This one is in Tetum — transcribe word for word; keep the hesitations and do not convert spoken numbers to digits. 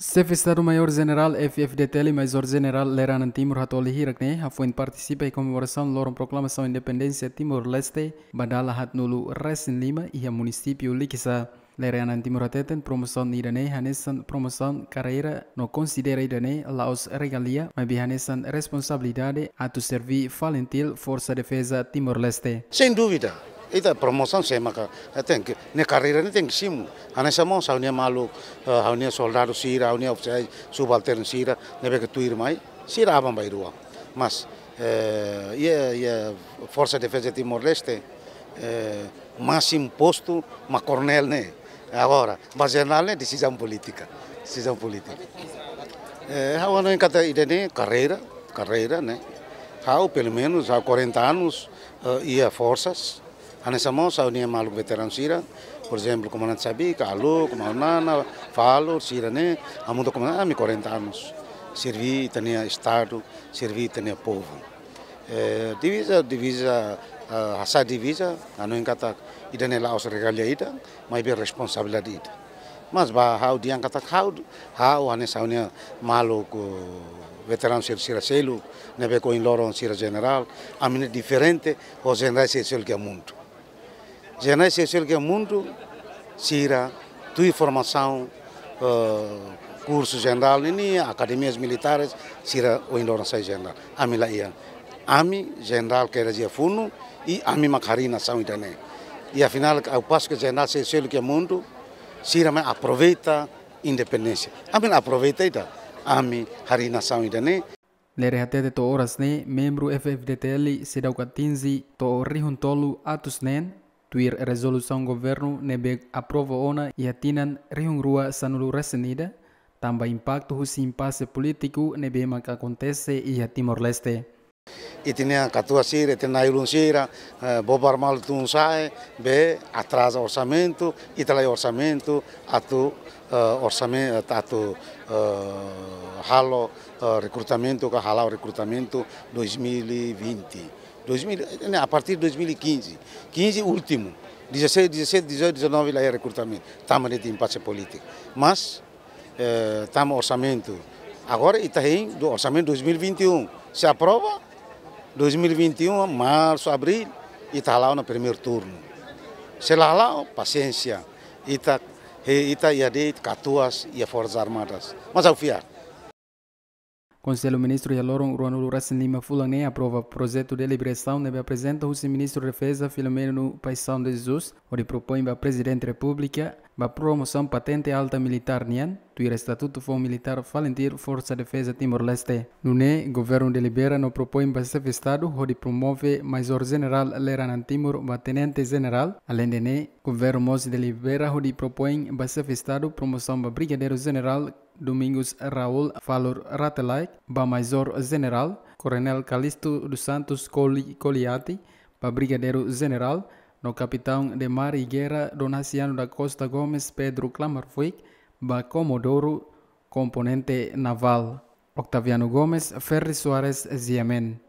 Xefe Estadu Maiór Jenerál F-FDTL, Maizór Jenerál Lere Anan Timur Hatoli hirak ne'e hafoin partisipa iha komemorasaun loron proklamasaun independénsia Timor-Leste ba dala haatnulu-resin-lima iha munisípiu Likisá. Lere Anan Timur hateten promosaun ida-ne'e hanesan promosaun karreira no konsidera ida-ne'e la'ós regalia, maibé hanesan responsabilidade atu serví FALINTIL Forsa Defeza Timor-Leste. Sem dúvida, ita promosaun sé maka, eh, tenke, ne'e karreira ne'e tenke simu. Hanesan mós ha'u-nia maluk, eh, ha'u-nia soldadu sira, ha'u-nia ofisiál subalternu sira, ne'ebé ke tuirmai, sira aban-bainrua. Mas, eh, iha, iha Forsa Defeza Timor-Leste, eh, másimu postu mak koronél ne'e. Agora, ba jenerál ne'e desizaun polítika. Desizaun polítika. Eh, ha'u hanoin katak ida-ne'e karreira, karreira, ne'e. Ha'u, pelumenus, ha'u quarenta anos, eh, iha forsas. Hanesan mós ha'u-nia maluk veteranu sira, por ezemplu, Komandante Xabi, Kalu, Komandante Nana, Falur, sira-ne'e, hamutuk ho komandante, ami quarenta anos. Serví ita-nia Estadu, serví ita-nia povu. Eh, diviza, diviza, eh, hasai diviza, hanoin katak ida-ne'e la'ós regalia ida, maibé responsabilidade ida. Mas ba ha'u dehan katak ha'u, ha'u hanesan ha'u-nia maluk, eh, veteranu sira, sira seluk, ne'ebé ke ohin loron sira jenerál, ami ne'e diferente ho jenerál sira seluk iha mundu. Jenerál sira seluk iha mundu, sira tuir formasaun, eh, kursu jenerál nian, akademias militares, sira ohin loron sai jenerál. Ami la iha. Ami jenerál kedas iha funu, i ami mak harii nasaun ida-ne'e. I afinál, au pas ke jenerál sira seluk iha mundu, sira mai aproveita independénsia. Ami la aproveita ida, ami harii nasaun ida-ne'e. Lere hatete to'o oras ne'e, membru F-FDTL seidauk atinje to'o rihun tolu atus neen, tuir rezolusaun governu ne'ebé aprova ona iha tinan rihun rua sanulu-resin-ida, tanba impaktu husi impase polítiku ne'ebé maka akontese iha Timor-Leste. Ita-nia katuas sira, ita-nia na'i-ulun sira, eh, bobar malu tun sa'e, be atraza orsamentu, ita la iha orsamentu, atu, eh, orsamen-, atu, eh, halo, eh, rekrutamentu, ka hala'o rekrutamentu dois mil e vinte. Dois mil, ne'e, a partir de dois mil e quinze. Quinze últimu. Dezasseis, dezassete, dezoito, dezanove la iha rekrutamentu. Tanba de'it impase polítiku. Mas, eh, tanba orsamentu. Agora ita hein do orsamentu dois mil e vinte e um. Se aprova, dois mil e vinte e um, marsu, abríl, ita hala'o ona primeiru turnu. Se la hala'o, pasiénsia. Ita, he, ita iha de'it katuas iha Forsas Armadas. Mas ha'u fiar. Konsellu Ministru iha loron ruanulu-resin-lima fulan ne'e aprova projetu deliberasaun ne'ebé aprezenta husi Ministru Defeza Filomeno Paixão de Jesus, hodi propoin ba Prezidente Repúblika ba promosaun patente alta militár nian, tuir Estatutu Foun Militár FALINTIL Forsa Defeza Timor-Leste. Nune'e, governu delibera no propoin ba Xefe Estadu hodi promove Maizór Jenerál Lere Anan Timur ba Tenente Jenerál. Aleinde ne'e, governu mós delibera hodi propoin ba Xefe Estadu promosaun ba Brigadeiru Jenerál Domingos Raul Falur Rate Laek ba Maizór Jenerál, Koronél Calixto dos Santos Coli-, Coliati ba Brigadeiru Jenerál, no Kapitaun de Mar e Guerra Dom Haciano da Costa Gomes Pedro Klamar Fuik ba Komodoru, Komponente Navál. Octaviano Gomes, Ferri Soares, G M N.